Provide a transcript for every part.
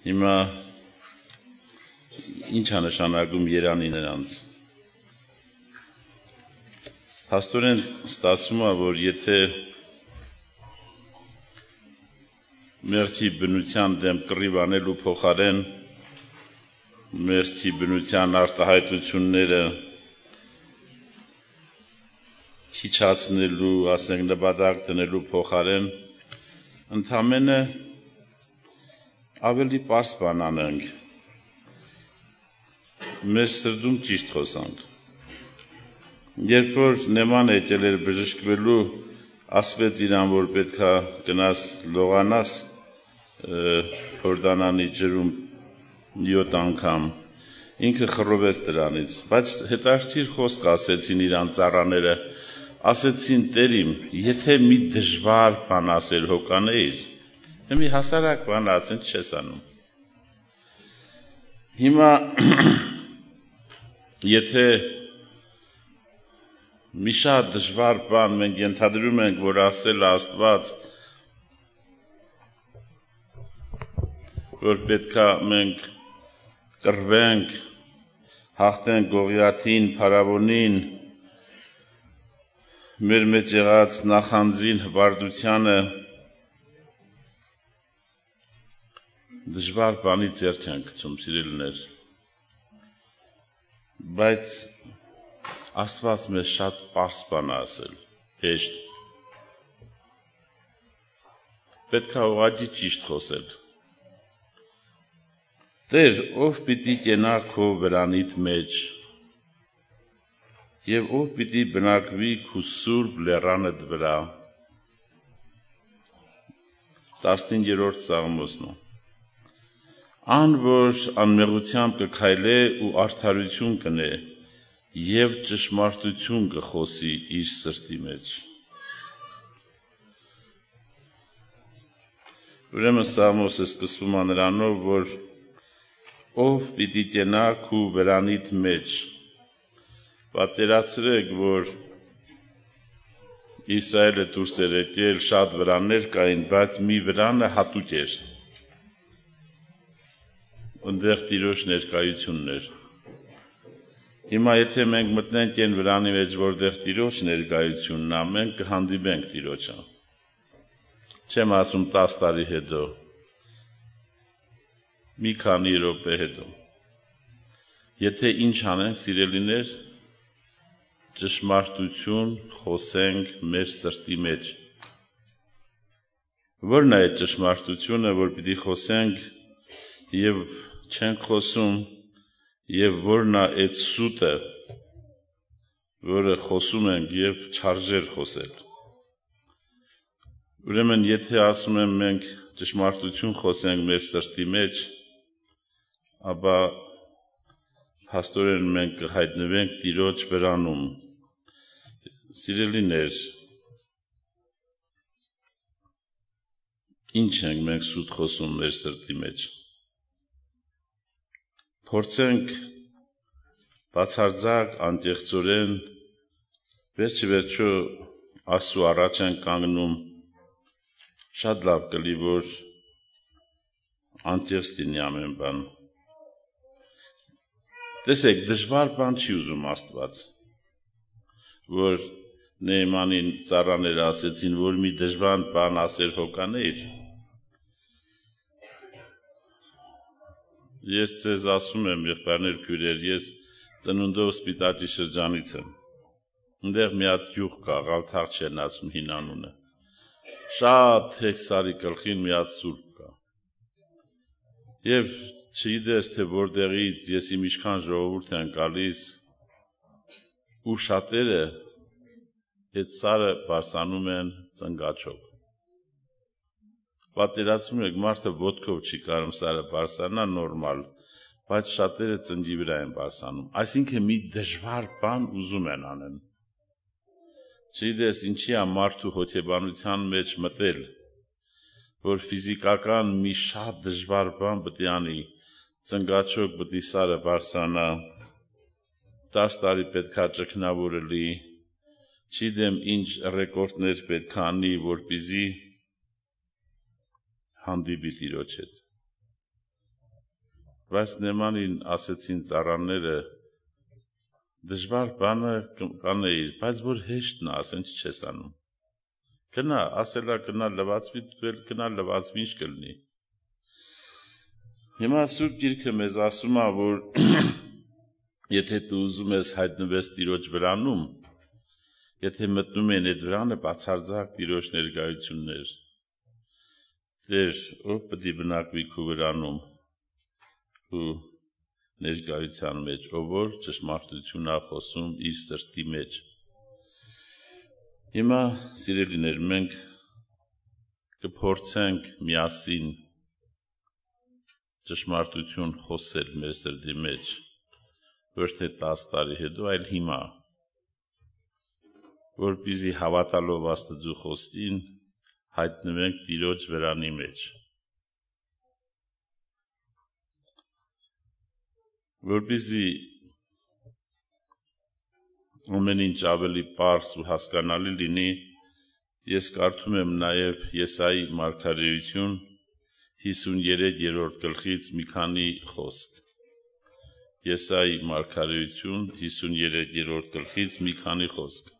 Հիմա ինչ է նշանակում երանի նրանց։ Փաստորեն ստացվում է, որ եթե մեղքի բնության դեմ կռիվ անելու փոխարեն մեղքի բնության արտահայտությունները քիչացնելու, ասենք նպատակ դնելու փոխարեն ընդամենը ավելի պարզ բան անենք, մեր սրտում ճիշտ խոսանք։ Երբ որ նեման եկել էր բժշկվելու, ասվեց իրան, որ պետք է գնաս լողանաս Հորդանանի ջրում 7 անգամ, ինքը խռովեց դրանից, բայց հետաքրքիր խոսք ասեցին իրան ծառաները, ասեցին Տեր իմ, եթե մի դժվար բան ասել հոգանեիր, մի հասարակ բան ասեն չես անում։ Հիմա եթե մի շատ դժվար բան մենք ենթադրում ենք, որ ասել Աստված, որ պետք է մենք կռվենք, հաղթենք Գողիաթին, Փարավոնին, մեր մեջ եղած նախանձին, հպարտությանը, դժվար բանի ձեռք չենք գցում, սիրելիներ, բայց Աստված մեզ շատ պարզ բան է ասել, հեշտ, պետք է ուղղակի ճիշտ խոսել։ Տեր, ով պիտի կենա քո վրանիդ մեջ, և ով պիտի բնակվի քո սուրբ լեռանդ վրա։ 15-րդ Սաղմոսն է։ Ան որ անմեղությամբ կքայլե ու արդարություն կնե, և ճշմարտություն կխոսի իր սրտի մեջ։ Ուրեմն Սաղմոսը սկսվում է նրանով, որ ով պիտի կենա քո վրանիդ մեջ։ Պատկերացրեք, որ Իսրայելը դուրս էր եկել, շատ վրաններ կային, բայց մի վրանը հատուկ էր։ Այնտեղ Տիրոջ ներկայությունն էր։ Հիմա եթե մենք մտնենք այն վրանի մեջ, որտեղ Տիրոջ ներկայությունն է, մենք կհանդիպենք Տիրոջը։ Չեմ ասում 10 տարի հետո, մի քանի րոպե հետո։ Եթե ինչ անենք, սիրելիներ, ճշմարտություն խոսենք մեր սրտի մեջ։ Որն է այդ ճշմարտությունը, որ պիտի խոսենք և չենք խոսում, և որն է այդ սուտը, որը խոսում ենք և չարժեր խոսել։ Ուրեմն եթե ասում եմ մենք ճշմարտություն խոսենք մեր սրտի մեջ, ապա փաստորեն մենք կհայտնվենք Տիրոջ վրանում։ Սիրելիներ, ինչ ենք մենք սուտ խոսում մեր սրտի մեջ։ Փորձենք բացարձակ անկեղծորեն, վերջիվերջո Աստծու առաջ ենք կանգնում, շատ լավ կլի, որ անկեղծ լինի ամեն բան։ Տեսեք, դժվար բան չի ուզում Աստված, որ Նեմանին ծառաները ասեցին, որ մի դժվար բան ասել հոգաներ։ Ես ձեզ ասում եմ, եղբայրներ քույրեր, ես ծնունդով Սպիտակի շրջանից եմ։ Այնտեղ մի հատ գյուղ կա, Ղալթաղ ասում հին անունը։ Շատ հեքսարի գլխին մի հատ սուրբ կա։ Եվ չգիտես, թե որտեղից ես իմ ինչքան ժողովուրդ են գալիս, ու շատերը այդ սարը բարձանում են ծնգաչով։ Պատկերացնում եք, մարդը ոտքով չի կարող սարը բարձրանա նորմալ, բայց շատերը ծնգի վրա են բարձանում։ Այսինքն մի դժվար բան ուզում են անեն։ Չգիտես, ինչի է մարդու հոգեբանության մեջ մտել, որ ֆիզիկական մի շատ դժվար բան պետք է անի, ծնգաչով պետք է սարը բարձրանա, 10 տարի պետք է ճգնավորը լի, չգիտեմ ինչ ռեկորդներ պետք է անի, որպեսզի հանդիպի Տիրոջ հետ։ բայց նեմանին ասեցին ծառաները դժվար բանը կանեիր, բայց որ հեշտն է, ասեն չես անում։ Գնա, ասելա գնա լվացվի, դու էլ գնա լվացվի, ինչ կլինի։ Հիմա Սուրբ Գիրքը մեզ ասում է, որ եթե դու ուզում ես հայտնվես Տիրոջ վրանում, եթե մտնում են այդ վրանը բացարձակ Տիրոջ ներկայություններ, Տեր, ով պետք է բնակվի քո վրանում, քո ներկայության մեջ, ով որ ճշմարտություն է խոսում իր սրտի մեջ։ Հիմա, սիրելիներ, մենք կփորձենք միասին ճշմարտություն խոսել մեր սրտի մեջ, ոչ թե 10 տարի հետո, այլ հիմա, որպեսզի հավատալով Աստծու խոսքին հայտնվենք Տիրոջ վրանի մեջ։ Որպեսզի ամեն ինչ ավելի պարզ ու հասկանալի լինի, ես կարդում եմ նաև Եսայի մարգարեություն 53-րդ գլխից մի քանի խոսք։ Եսայի մարգարեություն 53-րդ գլխից մի քանի խոսք։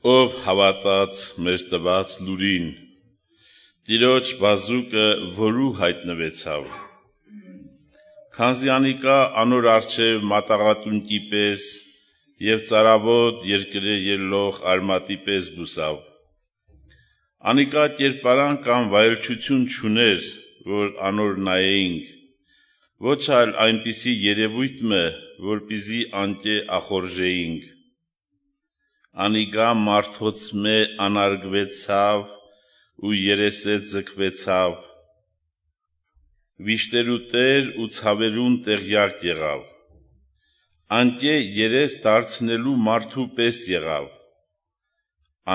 Ով հավատաց մեր տված լուրին, Տիրոջ բազուկը որու հայտնվեցավ, քանզի անիկա անոր առջև մատաղատունկի պես և ծարավոտ երկրե ելլող արմատի պես բուսավ, անիկա կերպարան կամ վայելչություն չուներ, որ անոր նայեինք, ոչ այլ այնպիսի երևույթ մը, որպիսի անկե ախորժեինք, անիկա մարդոց մե անարգվեցավ ու երեսե ձգվեցավ, վիշտերու տեր ու ցավերուն տեղյակ եղավ, անկե երես դարձնելու մարդու պես եղավ,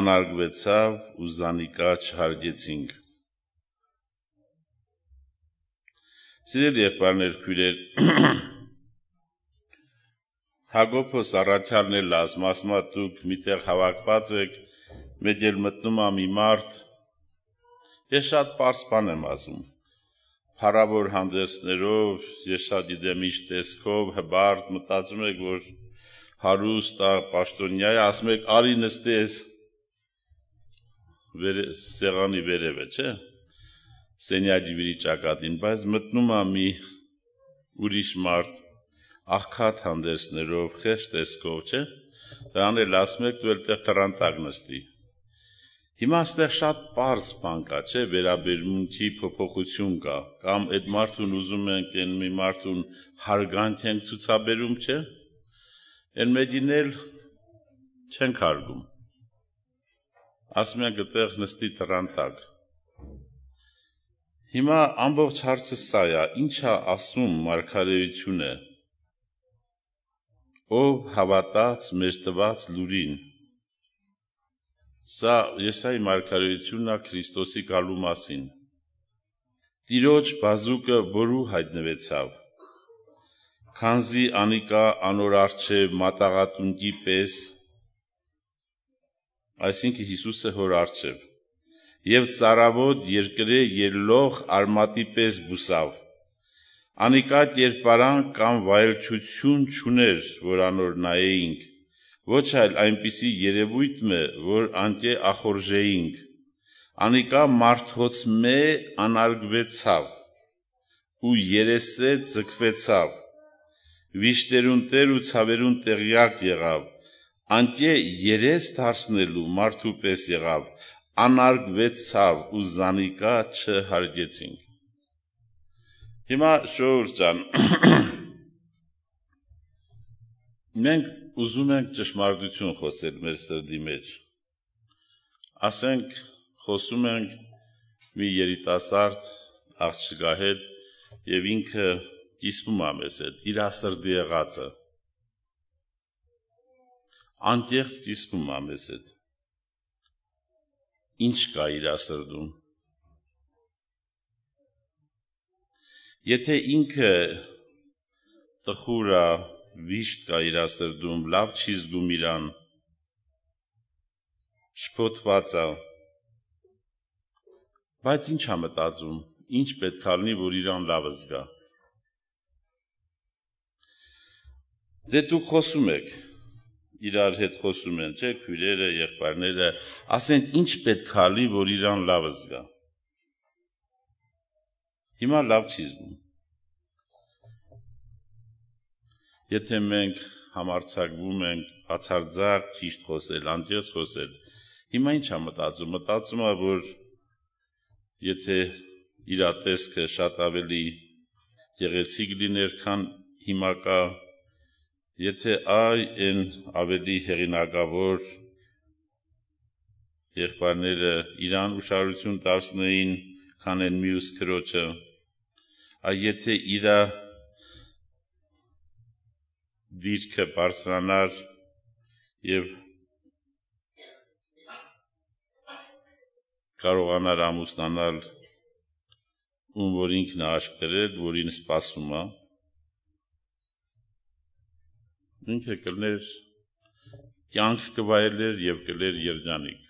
անարգվեցավ ու զանիկա չհարգեցինք։ Սիրելի եղբայրներ, քույրեր, Հակոբոս առաքյալն էլ ասում է դուք միտեղ հավաքված եք, մեկ էլ մտնում է մի մարդ, ես շատ պարզ բան եմ ասում, փառավոր հանդեսներով, ես շատ գիտեմ ինչ տեսքով, հբարդ, մտածում եք, որ հարուստ է, պաշտոնյա է, ասում եք արի նստես սեղանի վերևը, չէ, սենյակի վրի ճակատին, բայց մտնում է մի ուրիշ մարդ, աղքատ հանդեսներով, խեղճ տեսքով, չէ, դրան էլ ասում եք, դու էլ տեղ դռան նստի։ Հիմա այստեղ շատ պարզ բան կա, չէ, վերաբերմունքի փոփոխություն կա, կամ այդ մարդուն ուզում ենք, այն մի մարդուն հարգանք ենք ցուցաբերում, չէ, այն մեկին էլ չենք հարգում։ Ասում ենք այդտեղ նստի դռան տակ։ Հիմա ամբողջ հարցը սա է, ինչ է ասում մարգարեությունը, ով հավատաց մեր տված լուրին։ Սա Եսայի մարգարեությունն է Քրիստոսի գալու մասին։ Տիրոջ բազուկը որու հայտնվեցավ, քանզի անիկա անոր առջև մատաղատունկի պես, այսինքն Հիսուսը հոր առջև, և ծարավոտ երկրե ելլող արմատի պես բուսավ, անիկա կերպարան կամ վայելչություն չուներ, որ անոր նայեինք, ոչ այլ այնպիսի երևույթ մը, որ անկե ախորժեինք, անիկա մարդոց մե անարգվեցավ ու երեսե ձգվեցավ, վիշտերուն տեր ու ցավերուն տեղյակ եղավ, անկե երես դարձնելու մարդու պես եղավ, անարգվեցավ ու զանիկա չհարգեցինք։ Հիմա շոուր ջան, մենք ուզում ենք ճշմարտություն խոսել մեր սրտի մեջ, ասենք խոսում ենք մի երիտասարդ աղջկա հետ և ինքը կիսվում է մեզ հետ, իր սրտի եղածը, անկեղծ կիսվում է մեզ հետ, ինչ կա իր սրտում։ Եթե ինքը տխուր է, վիշտ կա իր սրտում, լավ չի զգում իրան, շփոթված է, բայց ինչ է մտածում, ինչ պետք է լինի, որ իրան լավը զգա։ Դե դուք խոսում եք, իրար հետ խոսում են, չէ, քույրերը, եղբայրները, ասենք ինչ պետք է լինի, որ իրան լավը զգա։ Հիմա լավ չի զգում։ Եթե մենք համարձակվում ենք բացարձակ ճիշտ խոսել, անկեղծ խոսել, հիմա ինչ է մտածում, մտածում է, որ եթե իր տեսքը շատ ավելի գեղեցիկ լիներ, քան հիմա կա, եթե այն ավելի հեղինակավոր եղբայրները իրան ուշադրություն դարձնեին, քան են մյուս քրոջը, եթե իր դիրքը բարձրանար եւ կարողանար ամուսնանալ ում որ ինքն է աշկերել, որին սպասում է, ինքը կլներ կյանք կվայելեր եւ կլեր երջանիկ։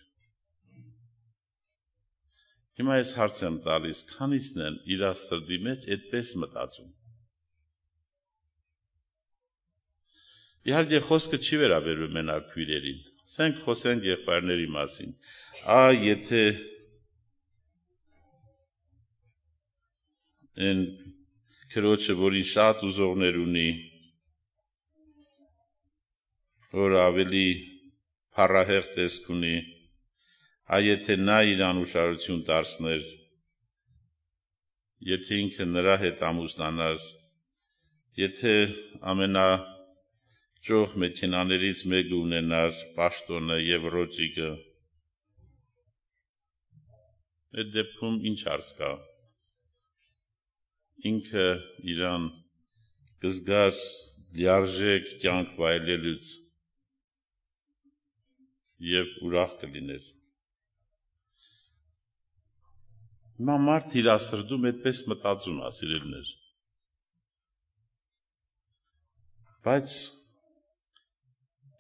Հիմա ես հարց եմ տալիս, քանիսն են իր սրտի մեջ այդպես մտածում։ Իհարկե խոսքը չի վերաբերվում մենակ քույրերին, ասենք խոսենք եղբայրների մասին։ Եթե այն քրոջը, որին շատ ուզողներ ունի, որ ավելի փառահեղ տեսք ունի, եթե նա իրան ուշադրություն դարձներ, եթե ինքը նրա հետ ամուսնանար, եթե ամենաճոխ մեքենաներից մեկը ունենար պաշտոնը եւ ռոճիկը, այդ դեպքում ինչ հարց կա։ Ինքը իրան կզգար լիարժեք կյանք վայելելուց եւ ուրախ կլիներ։ Հիմա մարդ իր սրտում այդպես մտածում է, սիրելիներ։ Բայց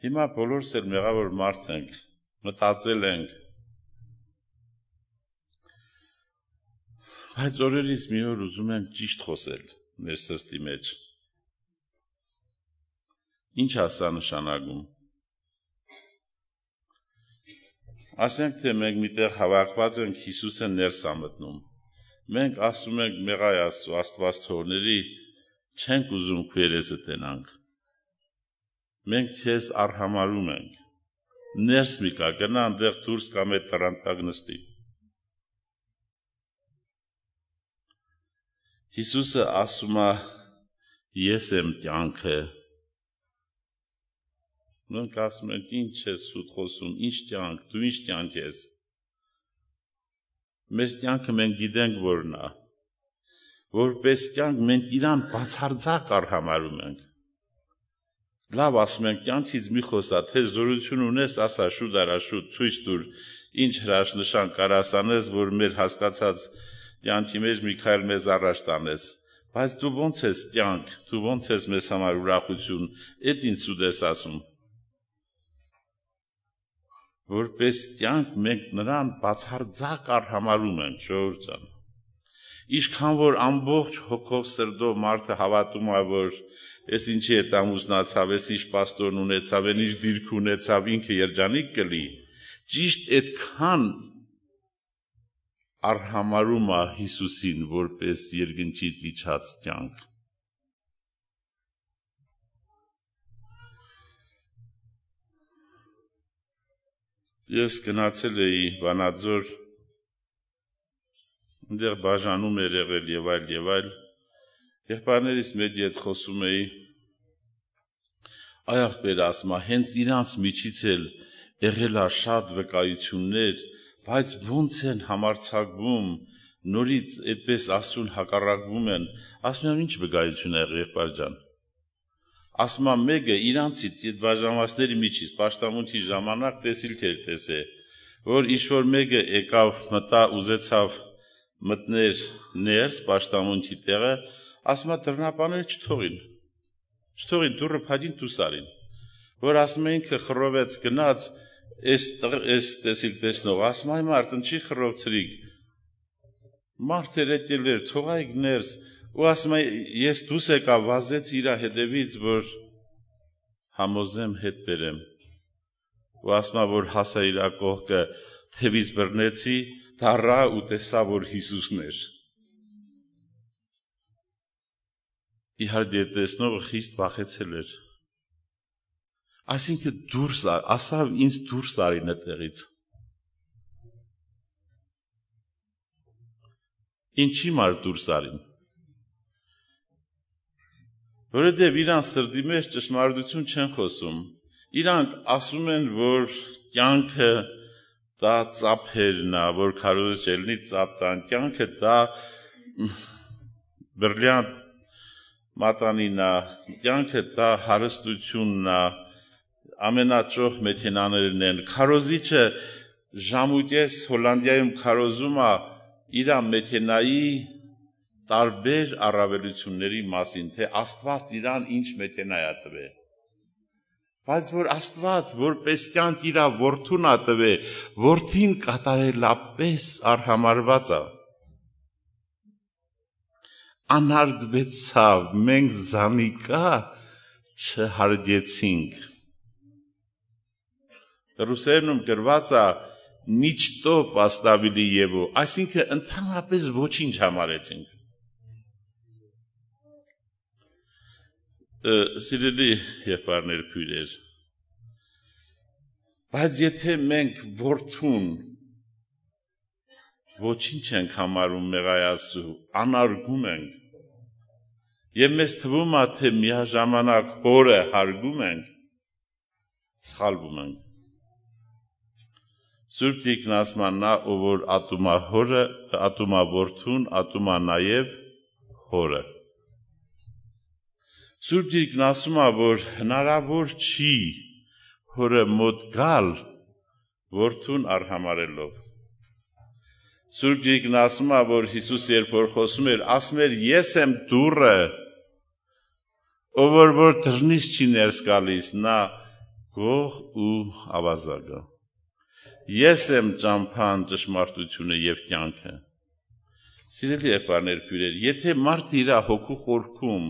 հիմա բոլորս էլ մեղավոր մարդ ենք, մտածել ենք, բայց օրերից մի օր ուզում ենք ճիշտ խոսել մեր սրտի մեջ։ Ինչ է սա նշանակում։ Ասենք թե մենք միտեղ հավաքված ենք, Հիսուսը ներս է մտնում։ Մենք ասում ենք մեղայ Աստծո, Աստված թողների, չենք ուզում քույրեզը տենանք։ Մենք քեզ արհամարում ենք։ Ներս մի կա, գնա այնտեղ դուրս կամ այդ տրանտակ նստի։ Հիսուսը ասում է, ես եմ կյանքը։ Մենք ասում ենք, ինչ ես սուտ խոսում, ինչ կյանք, դու ինչ կյանք ես։ Մեր կյանքը մենք գիտենք որն է։ Որպես կյանք մենք իրան բացարձակ արհամարում ենք։ Լավ ասում ենք, կյանքից մի խոսա, թե զորություն ունես, ասա շուտ արա, շուտ, ցույց տուր, ինչ հրաշքնշան կարաս անես, որ մեր հասկացած կյանքի մեջ Միքայել մեզ առաջ տանես, բայց դու ոնց ես կյանք, դու ոնց ես մեզ համար ուրախություն, այդ ինչ սուտ ես ասում։ Որպես կյանք մենք նրան բացարձակ արհամարում ենք, ժողովուրդ ջան։ Ինչքան որ ամբողջ հոգով սրտով մարդը հավատում է, որ ես ինչի հետ ամուսնացավ, ես ինչ պաստորն ունեցավ, ինչ դիրք ունեցավ, ինքը երջանիկ կլի, ճիշտ այդքան արհամարում է Հիսուսին որպես երկնքից իջած կյանք։ Ես գնացել էի Վանաձոր, այնտեղ բաժանում էր եղել եւ այլ, եղբայրներից մեկի հետ խոսում էի, աղբեր ասում է, հենց իրանց միջից էլ եղել է շատ վկայություններ, բայց ոնց են համարձակվում, նորից այդպես Աստծուն հակառակվում են, ասում եմ, ինչ վկայություն է եղել, եղբայր ջան։ Ասում եմ, մեկը իրանցից այդ բաժանվածների միջից պաշտամունքի ժամանակ տեսիլքեր տեսե, որ ինչ-որ մեկը եկավ, մտա, ուզեցավ մտներ ներս պաշտամունքի տեղը, ասում է, դռնապաները չթողին դուռը փակին դուսարին, որ ասում է ինքը խռովեց գնաց, Այս տեսիլ տեսնող ասում այ մարդ ընչի խռովցրիք մարդ եկել էր թողայք ներս ու ասում ես դուս եկա վազեց իրա հետևից որ համոզեմ հետ բերեմ ու ասում որ հասա իրա կողքը թևից բռնեցի դառա ու տեսա որ Հիսուսն էր իհարկե տեսնողը խիստ վախեցել էր այսինքն դուրս ասավ ինձ դուրս արին այդտեղից ինչի մար դուրս արին որովհետև իրան սրտի մեջ ճշմարտություն չեն խոսում իրանք ասում են որ կյանքը դա ծափերն է որ քարոզը չելնի ծափ տան կյանքը դա բրլիանտ մատանին է կյանքը դա հարստությունն է ամենաճոխ մեքենաներն են քարոզիչը ժամուկես Հոլանդիայում քարոզում է իր մեքենայի տարբեր առավելությունների մասին թե Աստված իրան ինչ մեքենա է տվել բայց որ Աստված որպես կյանք իր որդուն է տվել որդին կատարելապես արհամարված է անարգվեցավ մենք զանիկա չհարգեցինք Ռուսերենում գրված է նիչտո պաստավիլի եվո այսինքն ընդհանրապես ոչինչ համարեցինք Սիրելի եղբայրներ քույրեր բայց եթե մենք որդուն ոչինչ ենք համարում մեղայացու անարգում ենք եւ մեզ թվում է թե միաժամանակ հորը հարգում ենք սխալվում ենք Սուրբ Տիկն ասում է նա ով որ ատում է հորը ատում է որդուն ատում է նաեւ հորը Սուրբ Տիկն ասում է որ հնարավոր չի հորը մոտ գալ որդուն արհամարելով Սուրբ Գիրքն ասում է, որ Հիսուս երբ որ խոսում էր, ասում էր ես եմ դուռը, ով որ դռնից չի ներս գալիս, նա գող ու ավազակ է։ Ես եմ ճամփան, ճշմարտությունը եւ կյանքը։ Սիրելի եղբայրներ, քույրեր, եթե մարդը իր հոգու խորքում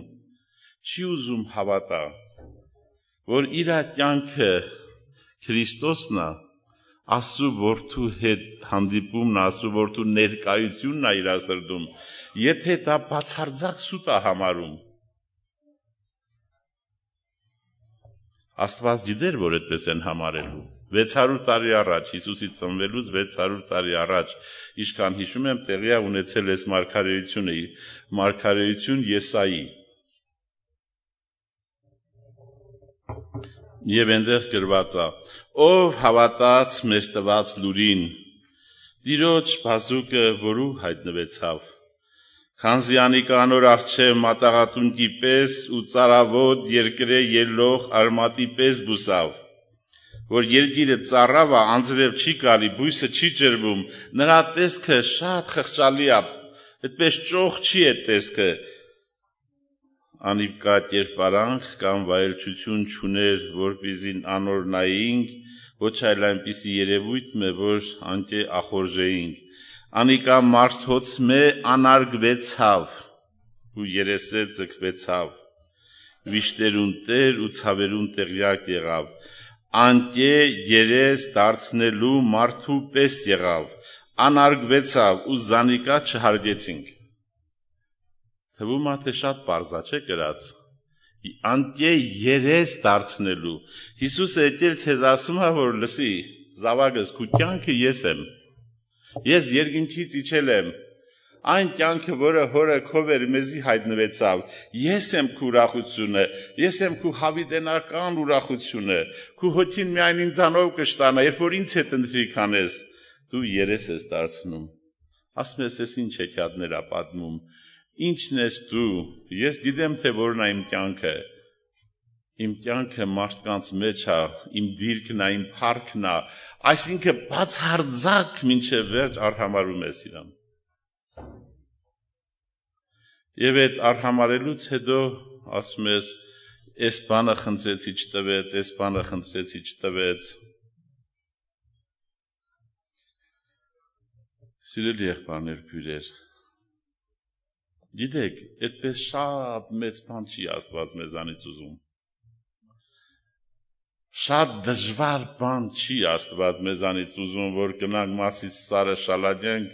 չի ուզում հավատա, որ իր կյանքը Քրիստոսն է, Աստծո որդու հետ հանդիպումն, Աստծո որդու ներկայությունն է իր սրտում, եթե դա բացարձակ սուտ է համարում, Աստված գիտեր, որ այդպես են համարելու։ 600 տարի առաջ, Հիսուսի ծնվելուց 600 տարի առաջ, ինչքան հիշում եմ, տեղի ունեցել այս մարգարեությունը, մարգարեություն Եսայի։ Եվ այնտեղ գրված է. Ով հավատաց մեր տված լուրին, Տիրոջ բազուկը որու հայտնվեցավ, քանզի անիկա անոր առջև մատաղատունկի պես ու ծարավոտ երկրե ելող արմատի պես բուսավ, որ երկիրը ծարավը անձրև չի գալի, բույսը չի ջրվում, նրա տեսքը շատ խղճալի է, այդպես ճոխ չի այդ տեսքը, անիվկա կերպարանք կամ վայելչություն չուներ, որպեսզի անոր նայեինք, ոչ այլ այնպիսի երևույթ մե, որ անկե ախորժեինք, անիկա մարդոց մե անարգվեցավ ու երեսե ձգվեցավ, վիշտերուն տեր ու ցավերուն տեղյակ եղավ, անկե երես դարձնելու մարդու պես եղավ, անարգվեցավ ու զանիկա չհարգեցինք։ Թվում է թե շատ պարզ է, չէ՞ գրած։ Անկե երես դարձնելու։ Հիսուսը եկել քեզ ասում է, որ լսի, զավակս, քո կյանքը ես եմ։ Ես երկնքից իջել եմ։ Այն կյանքը, որը հորը քով էր, մեզի հայտնվեցավ։ Ես եմ քո ուրախությունը, ես եմ քո հավիտենական ուրախությունը։ Քո հոգին միայն ինձանով կշտանա, երբ որ ինձ հետ ընթրիք անես, դու երես ես դարձնում։ Ասում ես, ես ինչ հեքիաթներ ա պատմում։ Ինչն ես դու, ես գիտեմ, թե որն է իմ կյանքը, իմ կյանքը մարդկանց մեջ է, իմ դիրքն է, իմ փառքն է, այսինքն բացարձակ մինչև վերջ արհամարում ես իրան։ Եվ այդ արհամարելուց հետո ասում ես, այս բանը խնդրեցի չտվեց, այս բանը խնդրեցի չտվեց, Սիրելի եղբայրներ, քույրեր, գիտեք, այդպես շատ մեծ բան չի Աստված մեզանից ուզում։ Շատ դժվար բան չի Աստված մեզանից ուզում, որ գնանք Մասիս սարը շալադենք,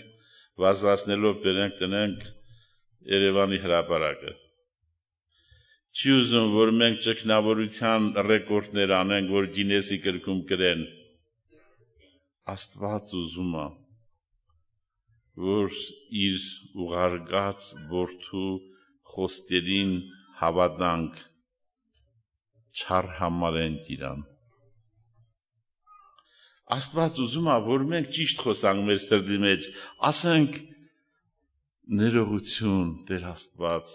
վազացնելով բերենք տնենք Երևանի հրապարակը։ Չի ուզում, որ մենք ճգնավորության ռեկորդներ անենք, որ Գինեսի գրքում գրեն։ Աստված ուզում է, որ իր ուղարկած որդու խոսքերին հավատանք, չարհամարենք իրան։ Աստված ուզում է, որ մենք ճիշտ խոսանք մեր սրտի մեջ, ասենք ներողություն, Տեր Աստված։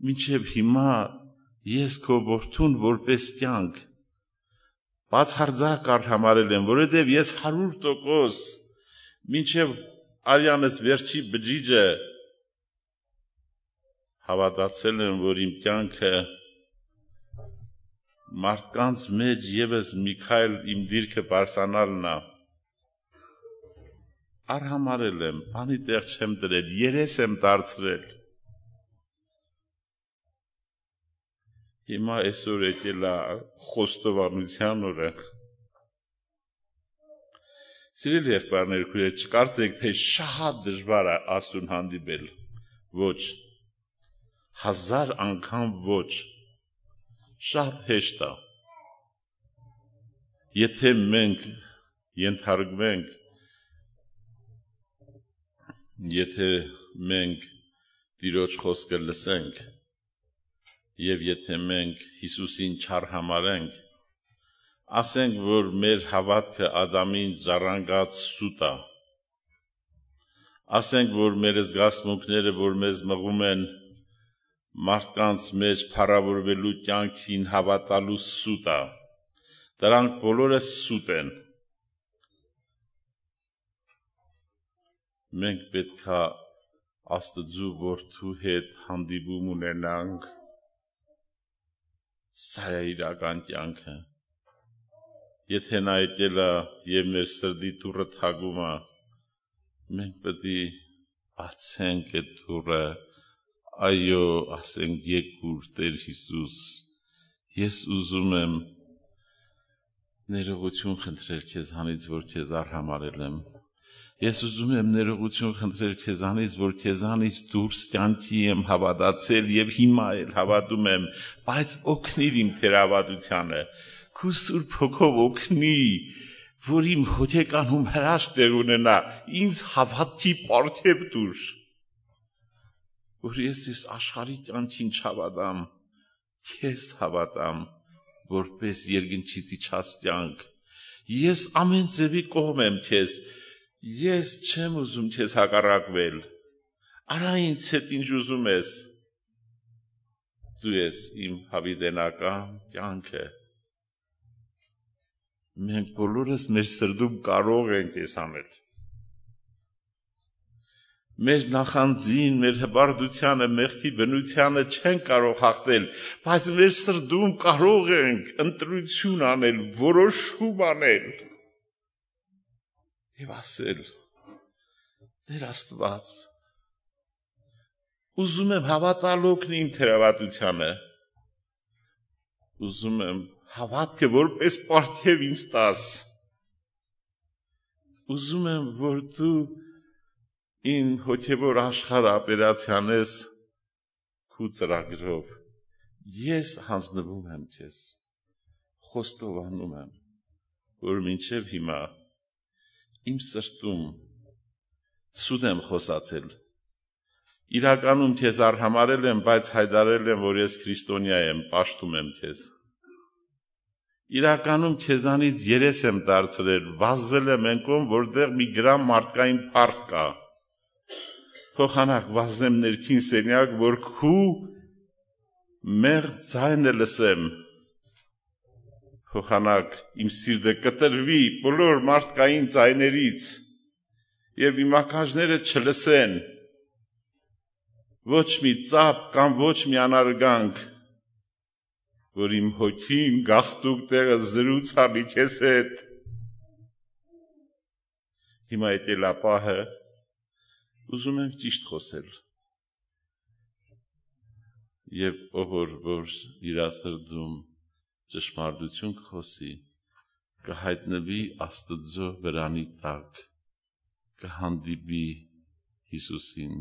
Մինչև հիմա ես քո որդուն որպես կյանք բացարձակ արհամարել եմ, որովհետև ես 100% մինչև արյանս վերջի բջիջը հավատացել եմ, որ իմ կյանքը մարդկանց մեջ ևս Միքայել իմ դիրքը բարսանալն է։ Արհամարել եմ, բանի տեղ չեմ դրել, երես եմ դարձրել։ Հիմա այսօր եկել է խոստովանության օրը։ Սիրելի եղբայրներ, քույրեր, չկարծեք, թե շատ դժվար է Աստծուն հանդիպել։ Ոչ, 1000 անգամ ոչ, շատ հեշտ է։ Եթե մենք ենթարկվենք, եթե մենք Տիրոջ խոսքը լսենք, եւ եթե մենք Հիսուսին չարհամարենք, ասենք, որ մեր հավատքը Ադամին ժառանգած սուտ է, ասենք, որ մեր զգացմունքները, որ մեզ մղում են մարդկանց մեջ փառավորվելու կյանքին հավատալու սուտ է, դրանք բոլորը սուտ են։ Մենք պետք է Աստծու որդու հետ հանդիպում ունենանք, սա է իրական կյանքը։ Եթե նա եկել է եւ մեր սրտի դուռը թակում է, մենք պետք է բացենք այդ դուռը, այո, ասենք եկուր Տեր Հիսուս, ես ուզում եմ ներողություն խնդրել քեզանից, որ քեզ արհամարել եմ։ Ես ուզում եմ ներողություն խնդրել քեզանից, որ քեզանից դուրս կյանքի եմ հավատացել եւ հիմա էլ հավատում եմ, բայց օգնիր իմ թերավատությանը։ Քո Սուրբ Հոգով օգնի, որ իմ հոգեկանում հրաշ տեղ ունենա, ինձ հավատքի պարգև տուր, որ ես աշխարհի կյանքին չհավատամ, քեզ հավատամ, որպես երկնչից իջած կյանք։ Ես ամեն ձևի կողմ եմ քեզ, ես չեմ ուզում քեզ հակառակվել, արա ինձ հետ ինչ ուզում ես, դու ես իմ հավիտենական կյանքը։ Մենք բոլորս մեր սրտում կարող ենք այս անել։ Մեր նախանձին, մեր հպարտությանը, մեղքի բնությանը չեն կարող հաղթել, բայց մեր սրտում կարող ենք ընտրություն անել, որոշում անել եւ ասել. Տեր Աստված, ուզում եմ հավատալ օգնի իմ թերավատությանը, ուզում եմ հավատքը որպես պարգև ինձ տաս, ուզում եմ, որ դու իմ հոգևոր աշխարհը ապերացիանես քու ծրագրով, ես հանձնվում եմ քեզ, խոստովանում եմ, որ մինչև հիմա իմ սրտում սուտ եմ խոսացել, իրականում քեզ արհամարել եմ, բայց հայտարարել եմ, որ ես քրիստոնյա եմ, պաշտում եմ քեզ, իրականում քեզանից երես եմ դարձրել, վազել եմ ընկում, որտեղ մի գրամ մարդկային փառք կա, փոխանակ վազեմ ներքին սենյակ, որ քու մեղմ ձայնը լսեմ, փոխանակ իմ սիրտը կտրվի բոլոր մարդկային ձայներից եւ իմ ականջները չլսեն ոչ մի ծափ կամ ոչ մի անարգանք, որ իմ հոգին գաղտուկ տեղը զրուցալի քեզ հետ Հիմա եկել է պահը, ուզում ենք ճիշտ խոսել։ Եվ ով որ իր սրտում ճշմարտություն կխոսի, կհայտնվի Աստծո վրանի տակ, կհանդիպի Հիսուսին։